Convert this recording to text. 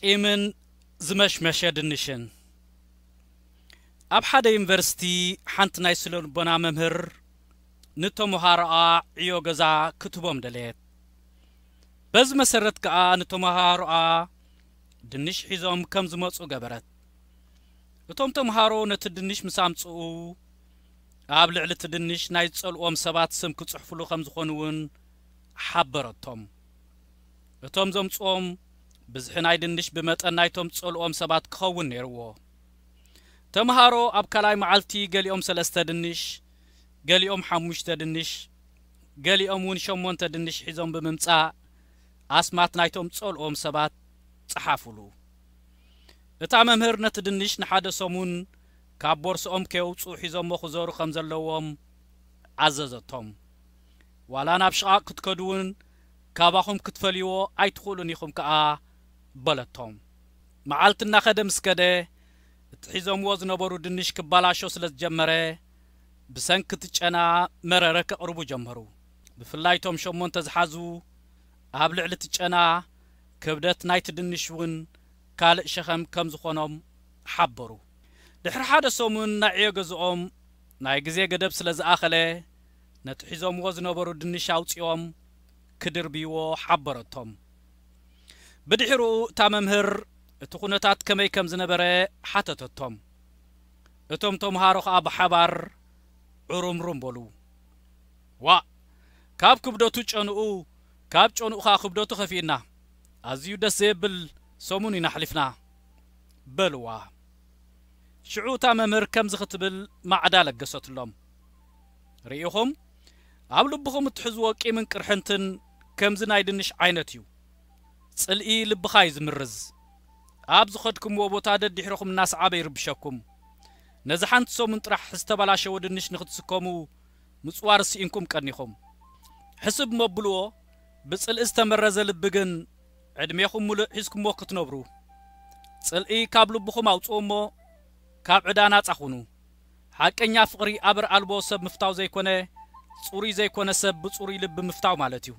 ቂምን ዝመሽመሸ ድንሽን። ኣብ ሓደ ዩኒቨርሲቲ ሓንቲ ናይ ስነ ልቦና መምህር ንተምሃሮኣ ዕዮ ገዛ ክትህቦም ደለየት። በዚ መሰረት ከኣ ንተምሃሮኣ ድንሽ ሒዞም ከም ዝመጹ ገበረት። እቶም ተምሃሮ ነቲ ድንሽ ምስ ኣምጽኡ፣ ኣብ ልዕሊ እቲ ድንሽ ናይ ዝጸልኦም ሰባት ስም ክጽሕፉሉ ከም ዝኾኑ እውን ሓበረቶም። እቶም ዘምጽኦም ብዝሒ ናይ ድንሽ ብመጠን ናይቶም ዝጸልኦም ሰባት ክኸውን ነይርዎ። ተምሃሮ ኣብ ካልኣይ መዓልቲ ገሊኦም ሰለስተ ድንሽ፣ ገሊኦም ሓሙሽተ ድንሽ፣ ገሊኦም እውን ሸሞንተ ድንሽ ሒዞም ብምምጻእ ኣስማት ናይቶም ዝጸልኦም ሰባት ጸሓፉሉ። እታ መምህር ነቲ ድንሽ ንሓደ ሰሙን ካብ ቦርስኦም ከየውጽኡ ሒዞሞ ክዞሩ ከም ዘለዎም ኣዘዘቶም። ዋላ ናብ ሽቓቕ ክትከዱ እውን ካባኹም ክትፈልይዎ ኣይትኽእሉን ኢኹም ከኣ በለቶም። መዓልቲ እናኸደ ምስ ከደ እቲ ሒዞምዎ ዝነበሩ ድንሽ ክባላሾ ስለ ዝጀመረ ብሰንኪ እቲ ጨና መረረ ከቕርቡ ጀመሩ። ብፍላይ እቶም ሸሞንተ ዝሓዙ ኣብ ልዕሊ እቲ ጨና ክብደት ናይቲ ድንሽ እውን ካልእ ሸኸም ከም ዝኾኖም ሓበሩ። ድሕሪ ሓደ ሰሙን ናይ ዕዮ ገዝኦም ናይ ግዜ ገደብ ስለ ዝኣኸለ ነቲ ሒዞምዎ ዝነበሩ ድንሽ ኣውጺኦም ክድርብይዎ ሓበረቶም። ብድሕሩ እታ መምህር እቲ ኩነታት ከመይ ከም ዝነበረ ሓተተቶም። እቶም ተምሃሮ ኸኣ ብሓባር ዕሩምሩም በሉ። ዋእ! ካብ ክብደቱ ጨንኡ፣ ካብ ጨንኡ ኸኣ ክብደቱ ኸፊእና። ኣዝዩ ደስ ዘየብል ሰሙን ኢና ኣሕሊፍና በልዋ። ሽዑ እታ መምህር ከምዚ ክትብል ማዕዳ ለገሰትሎም። ርኢኹም፣ ኣብ ልብኹም እትሕዝዎ ቂምን ቅርሕንትን ከምዚ ናይ ድንሽ ዓይነት እዩ። ጽልኢ ልብኻ እዩ ዝምርዝ። ኣብ ዝኸድኩምዎ ቦታ ደድሕርኹም እናሰዓበ ይርብሸኩም። ነዚ ሓንቲ ሰሙን ጥራሕ ዝተበላሸወ ድንሽ ንኽትስከሙ ምጽዋር ስኢንኩም ቀኒኹም። ሕስብ መብልዎ፣ ብጽልኢ ዝተመረዘ ልቢ ግን ዕድሜኹም ሙሉእ ሒዝኩምዎ ክትነብሩ። ጽልኢ ካብ ልብኹም ኣውጽኡ እሞ ካብ ዕዳ ናጻ ኩኑ። ሓቀኛ ፍቕሪ ኣበር ኣልቦ ሰብ ምፍታው ዘይኮነ፣ ጽሩይ ዘይኮነ ሰብ ብጽሩይ ልቢ ምፍታው ማለት እዩ።